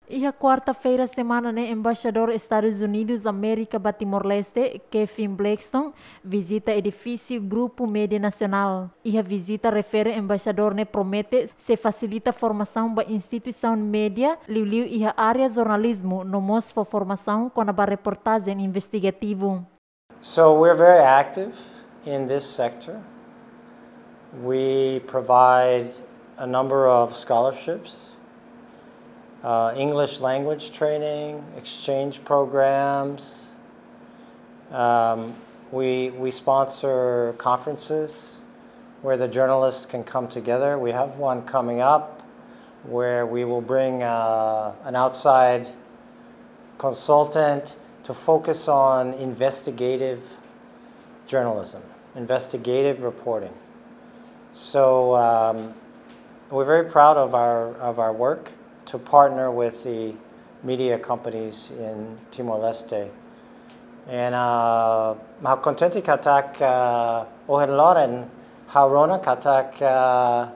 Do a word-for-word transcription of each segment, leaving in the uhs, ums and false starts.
Iha kuarta-feira semana ne'e, Embaixadór Estadus Unidus Amérika ba Timor-Leste, Kevin Blackstone, vizita edifísiu Grupu Média Nasionál. Iha vizita refere, embaixadór ne'e promete sei fasilita formasaun ba instituisaun média, liuliu iha área jornalizmu, no mós fó formasaun kona-ba reportajen investigativu. So we're very active in this sector. We provide a number of scholarships, uh, English language training, exchange programs. Um, we, we sponsor conferences where the journalists can come together. We have one coming up where we will bring uh, an outside consultant to focus on investigative journalism, investigative reporting. So um, we're very proud of our, of our work to partner with the media companies in Timor-Leste. And uh, ha'u kontente katak uh, ohin loron ha'u rona katak uh,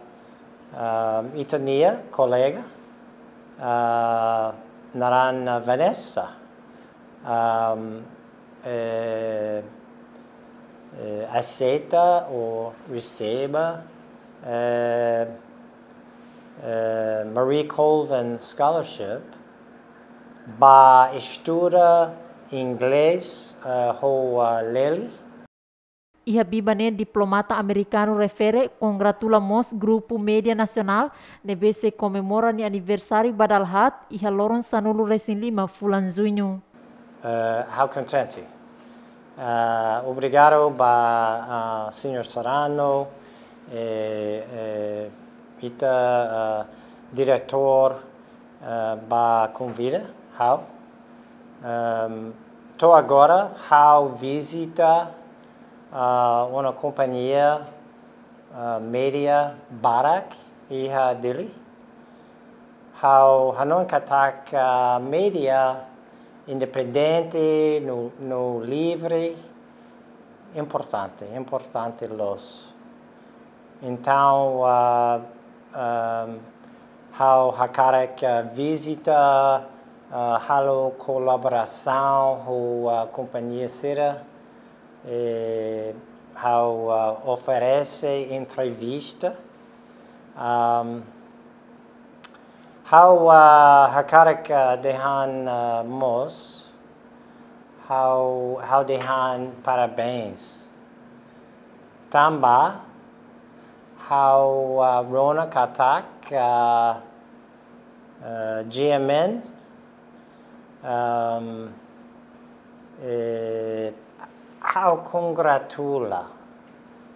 um, ita-nia kolega uh, naran uh, Vanessa um, eh, eh, aseita ou resebe eh, eh, Marie Colvin Scholarship ba estuda inglés eh, ho uh, Lely. Iha biban ne'e, diplomata amerikanu refere kongratula mós Grupu Média Nasionál ne'ebé sei komemora nia aniversáriu ba dala haat iha loron sanulu-resin-lima fulan Juñu. Uh, ha'u kontente. Uh, obrigadu ba uh, Señór Serrano, eh, eh, ita uh, diretór uh, ba konvida ha'u. Um, to'o agora ha'u vizita uh, uma kompañia uh, média barak iha Dili. Ha'u hanoin katak uh, média independente no, no livre importante, importante loos. Entaun uh, um, ha'u hakarak uh, vizita uh, halo kolaborasaun ho uh, kompañia sira eh, ha'u uh, oferese entrevista. Um, ha'u uh, hakarak uh, dehan uh, mós, ha'u, ha'u dehan parabéns. Tanba ha'u uh, rona katak uh, uh, G M N um, eh, ha'u kongratula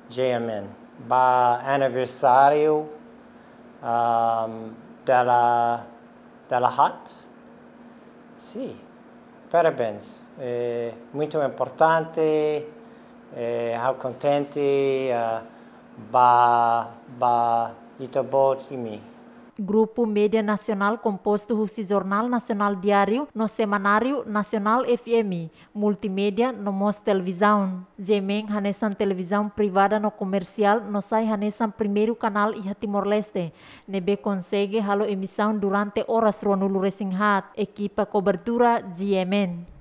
G M N ba aniversáriu um, dala, dala haat. Sim, parabéns. É muito importante, é, ha'u kontente uh, ba, ba ita-boot imi. Grupu Média Nasionál kompostu husi Jornál Nasionál Diáriu no Semanáriu Nasionál F M, multimédia no mós televizaun. G M N hanesan televizaun privada no komersiál no sai hanesan primeiru kanál iha Timor-Leste ne'ebé konsege halo emisaun durante oras ruanulu-resin-haat. Ekipa kobertura G M N.